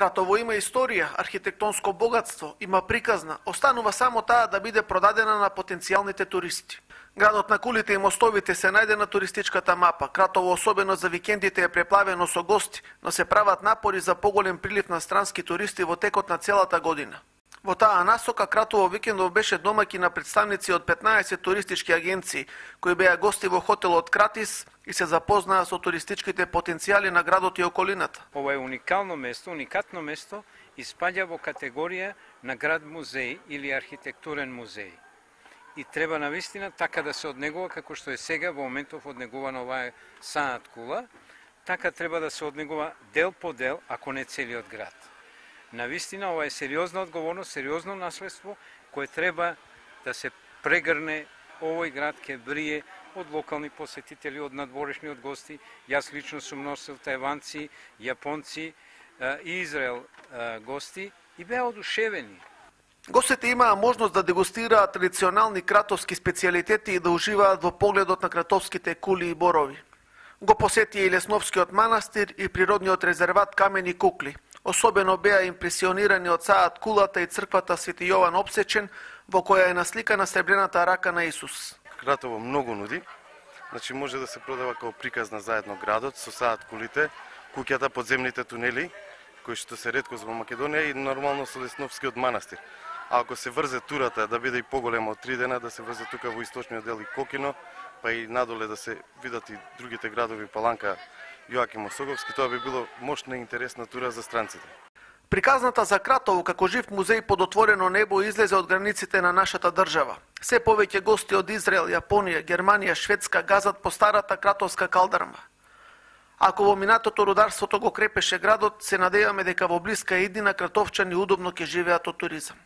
Кратово има историја, архитектонско богатство, има приказна, останува само таа да биде продадена на потенцијалните туристи. Градот на кулите и мостовите се најде на туристичката мапа. Кратово, особено за викендите, е преплавено со гости, но се прават напори за поголем прилив на странски туристи во текот на целата година. Во таа насока, Кратово викендов беше домаќин на представници од 15 туристички агенции, кои беа гости во хотелот Кратис и се запознаа со туристичките потенцијали на градот и околината. Ова е уникално место, уникатно место, испаѓа во категорија на град музеј или архитектурен музеј. И треба навистина така да се однегува како што е сега во моментов однегувана оваа Саат Кула, така треба да се однегува дел по дел, ако не целиот град. Навистина ова е сериозна одговорност, сериозно наследство кое треба да се прегрне. Овој град ке брие од локални посетители, од надворешни, од гости. Јас лично сум носил тајванци, јапонци и Израел гости и беа одушевени. Гостите имаа можност да дегустираат традиционални кратовски специјалитети и да уживаат во погледот на кратовските кули и борови. Го посетија и Лесновскиот манастир и природниот резерват Камени кукли. Особено беа импресионирани од Саат Кулата и црквата Свети Јован Обсечен, во која е насликана сребрената рака на Исус. Кратово многу нуди, значи може да се продава како приказна заедно градот со Саат Кулите, куќата, подземните тунели, кои што се реткост во Македонија и нормално со Лесновскиот манастир. А ако се врзе турата да биде и поголема од 3 дена, да се врзе тука во источниот дел и Кокино, па и надоле да се видат и другите градови Паланка, Јоаким Осоговски, тоа би било мощна и интересна тура за странците. Приказната за Кратово како жив музеј под отворено небо излезе од границите на нашата држава. Се повеќе гости од Израел, Јапонија, Германија, Шведска газат по старата кратовска калдарма. Ако во минатото рударството го крепеше градот, се надеваме дека во блиска иднина кратовчани удобно ќе живеат од туризам.